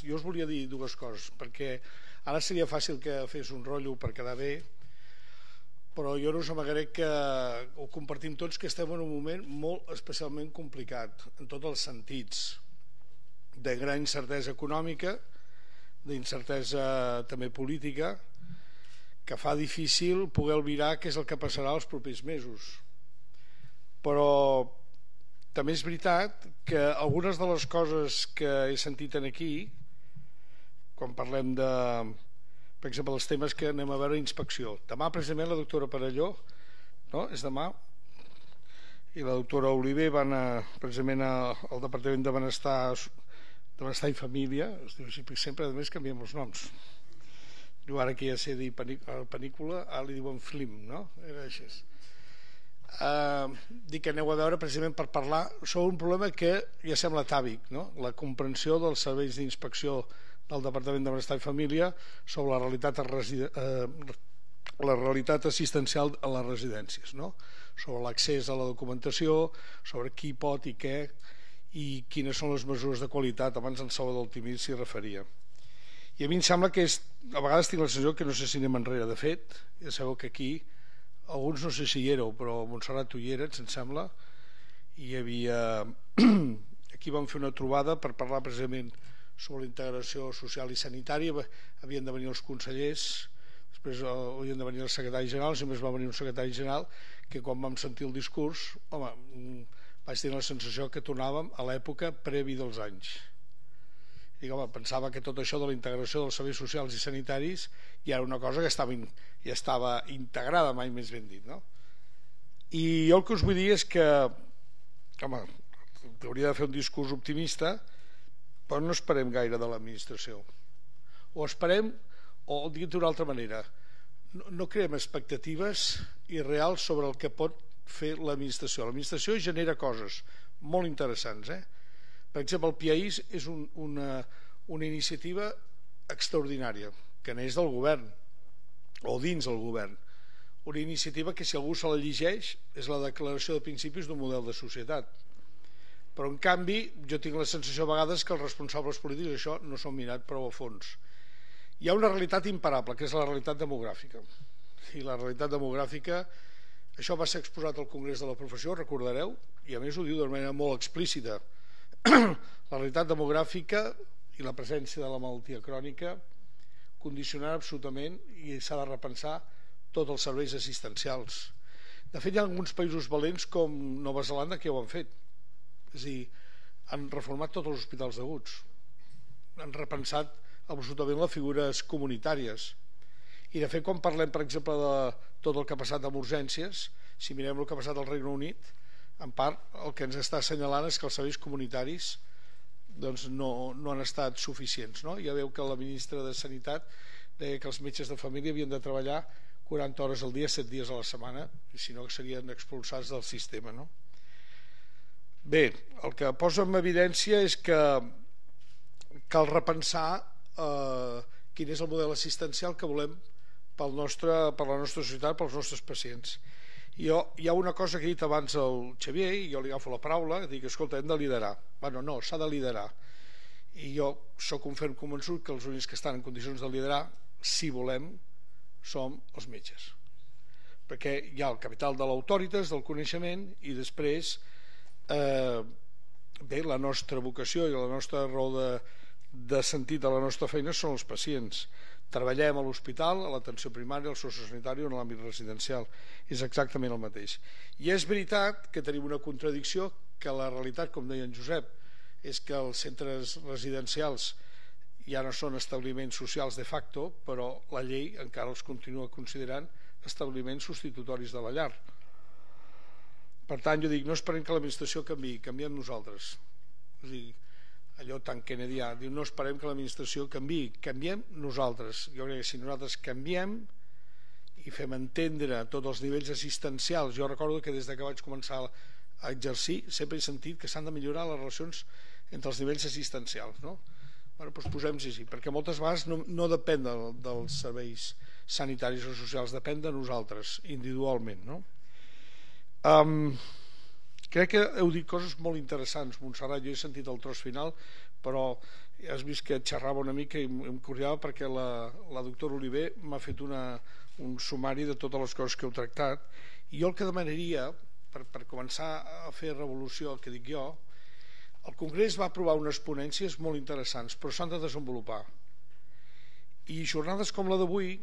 Jo us volia dir dues coses, perquè ara seria fàcil que fes un rotllo per quedar bé, però jo no us amagaré que ho compartim tots, que estem en un moment molt especialment complicat en tots els sentits, de gran incertesa econòmica, d'incertesa també política, que fa difícil poder albirar què és el que passarà els propers mesos. Però també és veritat que algunes de les coses que he sentit aquí, quan parlem de, per exemple, els temes que anem a veure, inspecció. Demà precisament la doctora Parelló, no? És demà, i la doctora Oliver van precisament al Departament de Benestar i Família, es diu així, sempre a més canviem els noms. Jo ara que ja sé dir panícula, ara li diuen film, no? Era així. Dic que aneu a veure precisament per parlar sobre un problema que ja sembla atàvic, no? La comprensió dels serveis d'inspecció del Departament de Benestar i Família sobre la realitat assistencial a les residències, no? Sobre l'accés a la documentació, sobre qui pot i què, i quines són les mesures de qualitat. Abans en Salvador Altimir s'hi referia. I a mi em sembla que a vegades tinc la sensació que no sé si anem enrere. De fet, ja sabeu que aquí alguns no sé si hi éreu, però Montserrat tu hi eres, em sembla, i hi havia aquí vam fer una trobada per parlar precisament sobre la integració social i sanitària. Havien de venir els consellers, després havien de venir els secretaris generals, i només va venir un secretari general que quan vam sentir el discurs, home, vaig tenir la sensació que tornàvem a l'època previ dels anys. I home, pensava que tot això de la integració dels serveis socials i sanitaris ja era una cosa que ja estava integrada, mai més ben dit, no? I jo el que us vull dir és que, home, hauria de fer un discurs optimista, però no esperem gaire de l'administració. O esperem, o dit d'una altra manera, no creem expectatives irreals sobre el que pot fer l'administració. L'administració genera coses molt interessants, Per exemple, el PIAIS és una iniciativa extraordinària que neix del govern o dins del govern, una iniciativa que si algú se la llegeix és la declaració de principis d'un model de societat, però en canvi jo tinc la sensació a vegades que els responsables polítics això no s'ho han mirat prou a fons. Hi ha una realitat imparable que és la realitat demogràfica, i la realitat demogràfica, això va ser exposat al Congrés de la Professió, recordareu, i a més ho diu de manera molt explícita. La realitat demogràfica i la presència de la malaltia crònica condicionen absolutament, i s'ha de repensar, tots els serveis assistencials. De fet, hi ha alguns països valents com Nova Zelanda que ja ho han fet, és a dir, han reformat tots els hospitals d'aguts, han repensat absolutament les figures comunitàries, i de fet quan parlem per exemple de tot el que ha passat amb urgències, si mirem el que ha passat al Regne Unit, en part el que ens està assenyalant és que els serveis comunitaris doncs no han estat suficients, no? Ja veu que la ministra de Sanitat deia que els metges de família havien de treballar 40 hores al dia, 7 dies a la setmana, i si no serien expulsats del sistema, no? Bé, el que posa en evidència és que cal repensar quin és el model assistencial que volem per la nostra societat, pels nostres pacients. Hi ha una cosa que ha dit abans el Xavier, i jo li agafo la paraula, dic, escolta, hem de liderar. Bueno, no, s'ha de liderar. I jo sóc un ferm convençut que els únics que estan en condicions de liderar, si volem, som els metges. Perquè hi ha el capital de l'autoritas, del coneixement, i després, bé, la nostra vocació i la nostra raó de sentit de la nostra feina són els pacients. Treballem a l'hospital, a l'atenció primària, al sociosanitari o en l'àmbit residencial. És exactament el mateix. I és veritat que tenim una contradicció, que la realitat, com deia en Josep, és que els centres residencials ja no són establiments socials de facto, però la llei encara els continua considerant establiments substitutoris de la llar. Per tant, jo dic, no esperem que l'administració canviï, canviem nosaltres. És a dir, allò tan kennedià, diu, no esperem que l'administració canviï, canviem nosaltres. Jo crec que si nosaltres canviem i fem entendre tots els nivells assistencials, jo recordo que des que vaig començar a exercir sempre he sentit que s'han de millorar les relacions entre els nivells assistencials, no? Bueno, doncs posem-s'hi així, perquè moltes vegades no depèn dels serveis sanitaris o socials, depèn de nosaltres individualment, no? Crec que heu dit coses molt interessants, Montserrat. Jo he sentit el tros final, però Ja has vist que xerrava una mica i em curiava perquè la doctora Oliver m'ha fet un sumari de totes les coses que heu tractat, i jo el que demanaria, per començar a fer revolució, el que dic jo, el Congrés va aprovar unes ponències molt interessants, però s'han de desenvolupar, i jornades com la d'avui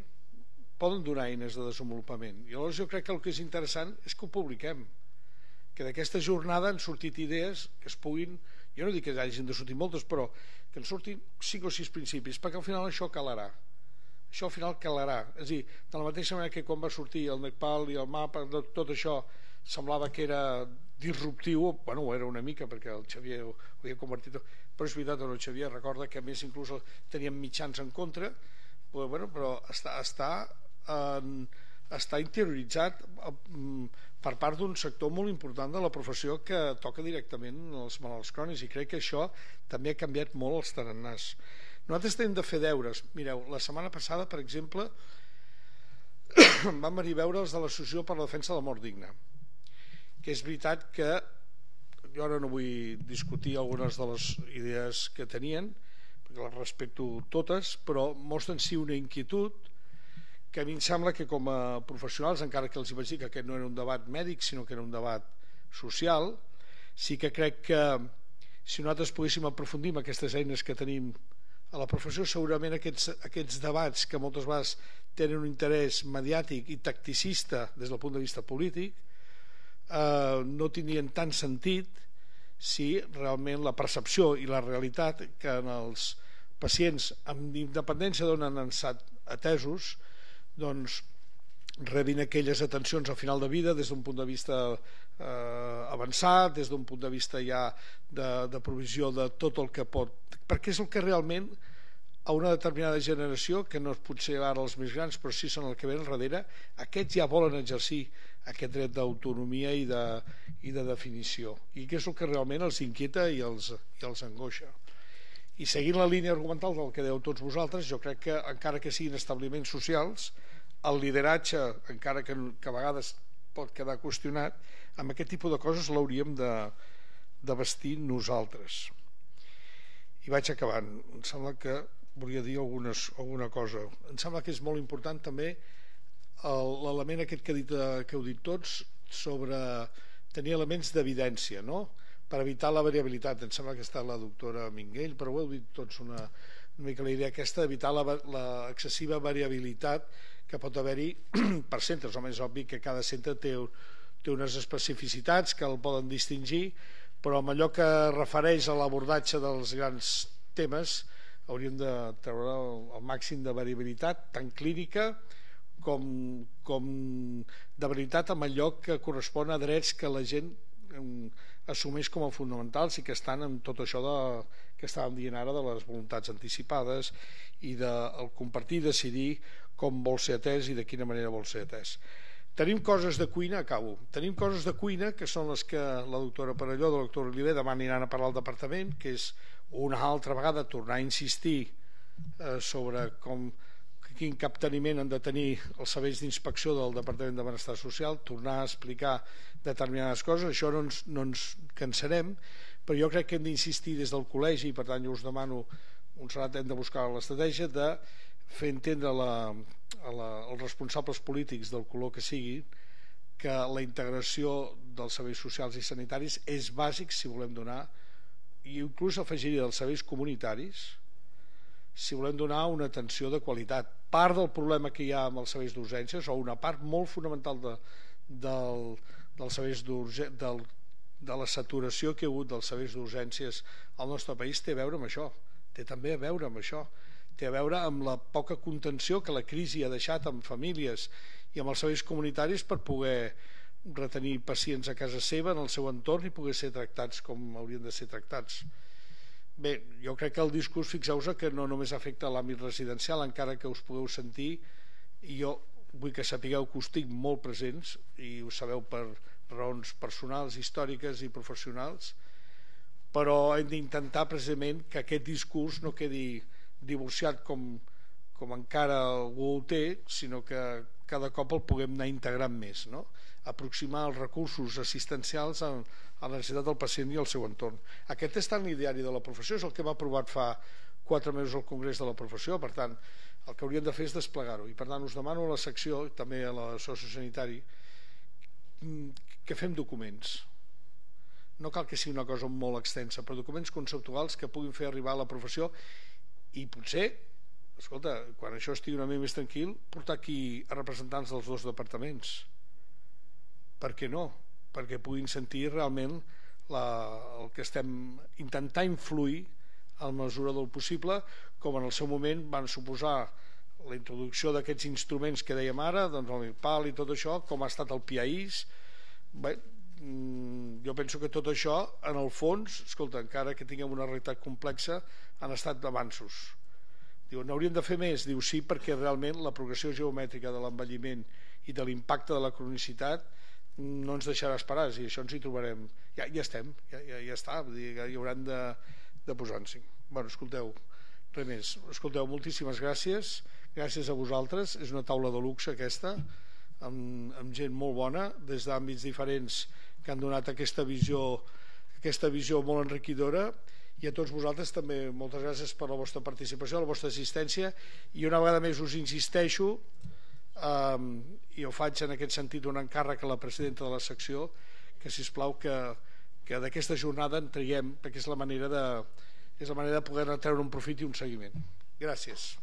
poden donar eines de desenvolupament, i llavors jo crec que el que és interessant és que ho publiquem, que d'aquesta jornada han sortit idees que es puguin, jo no dic que hagin de sortir moltes, però que en surtin 5 o 6 principis, perquè al final això calarà, això al final calarà, és a dir, de la mateixa manera que quan va sortir el Nepal i el mapa, tot això semblava que era disruptiu, bueno, ho era una mica perquè el Xavier ho havia convertit, però és veritat, el Xavier recorda que a més inclús teníem mitjans en contra, però està interioritzat per part d'un sector molt important de la professió que toca directament els malalts crònics, i crec que això també ha canviat molt els tarannàs. Nosaltres hem de fer deures. Mireu, la setmana passada, per exemple, vam venir a veure els de l'Associació per la Defensa de la Mort Digna, que és veritat que jo ara no vull discutir algunes de les idees que tenien, perquè les respecto totes, però mostren sí una inquietud que a mi em sembla que com a professionals, encara que els vaig dir que aquest no era un debat mèdic sinó que era un debat social, sí que crec que si nosaltres poguéssim aprofundir en aquestes eines que tenim a la professió, segurament aquests debats que moltes vegades tenen un interès mediàtic i tacticista des del punt de vista polític no tindrien tant sentit si realment la percepció i la realitat que en els pacients amb independència d'on han estat atesos doncs rebin aquelles atencions al final de vida des d'un punt de vista avançat, des d'un punt de vista ja de provisió de tot el que pot, perquè és el que realment a una determinada generació, que no és potser ara els més grans però sí són el que ven darrere, aquests ja volen exercir aquest dret d'autonomia i de definició, i que és el que realment els inquieta i els angoixa. I seguint la línia argumental del que deu tots vosaltres, jo crec que encara que siguin establiments socials, el lideratge, encara que a vegades pot quedar qüestionat, amb aquest tipus de coses l'hauríem de vestir nosaltres. I vaig acabant. Em sembla que volia dir alguna cosa. Em sembla que és molt important també l'element aquest que heu dit tots sobre tenir elements d'evidència, no? Per evitar la variabilitat. Em sembla que està la doctora Minguell, però ho heu dit tots una mica la idea aquesta d'evitar l'excessiva variabilitat que pot haver-hi per centres. Home, és obvi que cada centre té unes especificitats que el poden distingir, però amb allò que refereix a l'abordatge dels grans temes hauríem de treure el màxim de variabilitat, tant clínica com de veritat amb allò que correspon a drets que la gent assumeix com a fonamentals i que estan en tot això que estàvem dient ara de les voluntats anticipades i del compartir i decidir com vol ser atès i de quina manera vol ser atès. Tenim coses de cuina, acabo, tenim coses de cuina que són les que la doctora Perelló, la doctora Oliver demà aniran a parlar al departament, que és una altra vegada tornar a insistir sobre quin capteniment han de tenir els serveis d'inspecció del Departament de Benestar Social, tornar a explicar determinades coses. Això no ens cansarem, però jo crec que hem d'insistir des del col·legi, i per tant jo us demano, Montserrat, hem de buscar l'estratègia de fer entendre als responsables polítics del color que sigui que la integració dels serveis socials i sanitaris és bàsic si volem donar, i inclús afegiria dels serveis comunitaris, si volem donar una atenció de qualitat. Part del problema que hi ha amb els serveis d'urgències, o una part molt fonamental dels serveis de la saturació que hi ha hagut dels serveis d'urgències al nostre país, té a veure amb això, té també a veure amb això, té a veure amb la poca contenció que la crisi ha deixat amb famílies i amb els serveis comunitaris per poder retenir pacients a casa seva, en el seu entorn, i poder ser tractats com haurien de ser tractats. Bé, jo crec que el discurs, fixeu-vos que no només afecta l'àmbit residencial, encara que us pugueu sentir, i jo vull que sapigueu que us tinc molt presents, i ho sabeu per raons personals, històriques i professionals, però hem d'intentar precisament que aquest discurs no quedi divorciat com encara algú ho té, sinó que cada cop el puguem anar integrant més, no? Aproximar els recursos assistencials a la necessitat del pacient i al seu entorn. Aquest està en l'ideari de la professió, és el que hem aprovat fa 4 mesos al Congrés de la Professió. Per tant, el que hauríem de fer és desplegar-ho, i per tant us demano a la secció, també a la sociosanitari, que fem documents. No cal que sigui una cosa molt extensa, però documents conceptuals que puguin fer arribar a la professió, i potser, escolta, quan això estigui una mica més tranquil, portar aquí a representants dels 2 departaments. Per què no? Perquè puguin sentir realment el que estem intentant influir a mesura del possible, com en el seu moment van suposar la introducció d'aquests instruments que dèiem ara, doncs el MIRPAL i tot això, com ha estat el PIAIS. Bé, jo penso que tot això, en el fons, escolta, encara que tinguem una realitat complexa, han estat avanços. Diu, n'hauríem de fer més? Diu, sí, perquè realment la progressió geomètrica de l'envelliment i de l'impacte de la cronicitat no ens deixarà esperar, i això ens hi trobarem. Ja estem, ja està, ja hi hauran de posar-s'hi. Bueno, escolteu, res més. Escolteu, moltíssimes gràcies. Gràcies a vosaltres. És una taula de luxe aquesta, amb gent molt bona, des d'àmbits diferents que han donat aquesta visió molt enriquidora, i a tots vosaltres també moltes gràcies per la vostra participació, la vostra assistència, i una vegada més us insisteixo, i ho faig en aquest sentit un encàrrec a la presidenta de la secció, que sisplau que d'aquesta jornada en traiem, perquè és la manera de poder treure un profit i un seguiment. Gràcies.